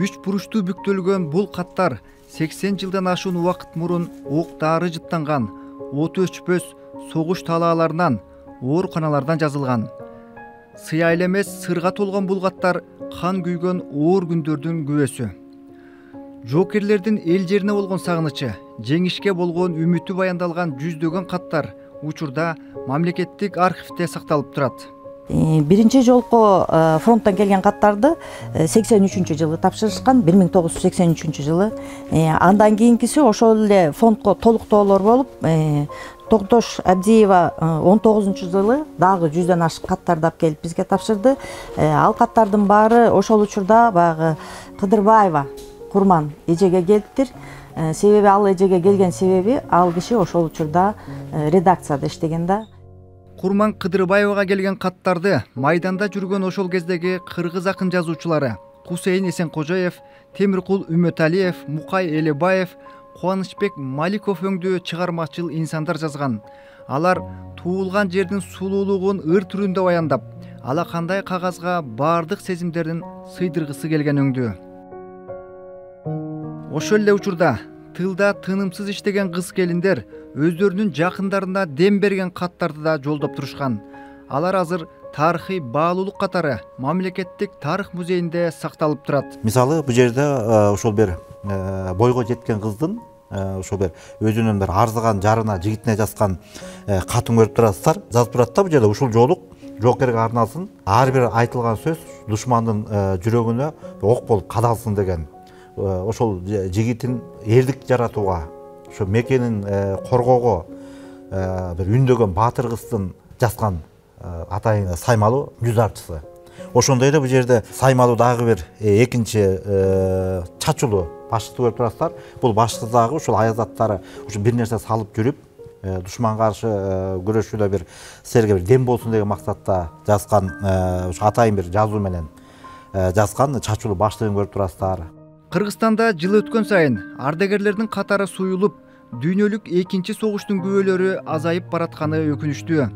Үч буручтуу бүктөлгөн бул каттар 80 жылдан ашуун убакыт мурун ок дары жыттанган, оту өчпөс согуш талааларынан, ооруканалардан жазылган. Сыя эле эмес, сырга толгон бул каттар кан күйгөн оор күндөрдүн күбөсү. Жоокерлердин эл жерине болгон сагынычы, жеңишке болгон үмүтү баяндалган жүздөгөн каттар учурда мамлекеттик архивде сакталып турат. Биринчи жолку фронттон келген каттарды 83-жылы тапшырышкан, 1983 жылы. Андан кийинкиси ошол эле фондко толуктоолор болуп, Тогтош Абдиева 19-жылы дагы 100дөн ашык каттарды алып келип бизге тапшырды. Ал каттардын баары ошол учурда баягы Кыдырбаева Курман эжеге келиптир. Себеби ал эжеге келген себеби ал киши ошол учурда редакцияда иштеген да. Курман Кыдырбаевага келген каттарды майданда жүргөн ошол кездеги кыргыз акын жазуучулары Кусейин Эсенкожоев, Темиркул Үмөталиев, Мукай Элебаев, Кубанычбек Маликов өңдүү чыгармачыл инсандар жазган. Алар туулган жердин сулуулугун ыр түрүндө баяндап, алакандай кагазга баардык сезимдерин сыйдыргысы келген өңдүү. Ошол эле учурда тылда тынымсыз иштеген кыз келиндер өздөрүнүн жакындарына дем берген каттарды да жолдоп турушкан. Алар азыр тарыхый баалуулук катары мамлекеттик тарых музейинде сакталып турат. Мисалы, бул жерде ошол бир бойго жеткен кыздын ошол бир өзүнүн бир арзыган жарына, жигитине жазган катын көрүп турасыздар. Жазып турат да бул жерде ушул жолук жоокерге арналсын. Ар бир айтылган сөз душмандын жүрөгүнө ок болуп кадалсын деген. Ошол жигитин эрдик жаратууга, ошо мекенин коргоого бир үндөгөн баатыр кыздын жазган атайын саймалуу жүз арчысы. Ошондой эле бул жерде саймалуу дагы бир экинчи чачулуу башчыды көрүп турасыздар. Бул башчы дагы ушул аязаттары ушу бир нерсе салып жүрүп, душманга каршы күрөшүүдө бир силерге бир дем болсун деген максатта жазган, ушу атайын бир жазуу менен жазган чачулуу башчыгын көрүп турасыздар. Кыргызстанда жыл өткөн сайын ардагерлердин катары суюлуп, дүйнөлүк экинчи согуштун күбөлөрү азайып баратканы өкүнүчтүү.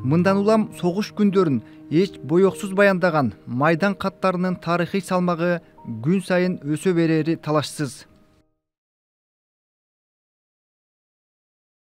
Мындан улам согуш күндөрүн эч боёксуз баяндаган майдан каттарынын тарыхый салмагы күн сайын өсө берери талашсыз.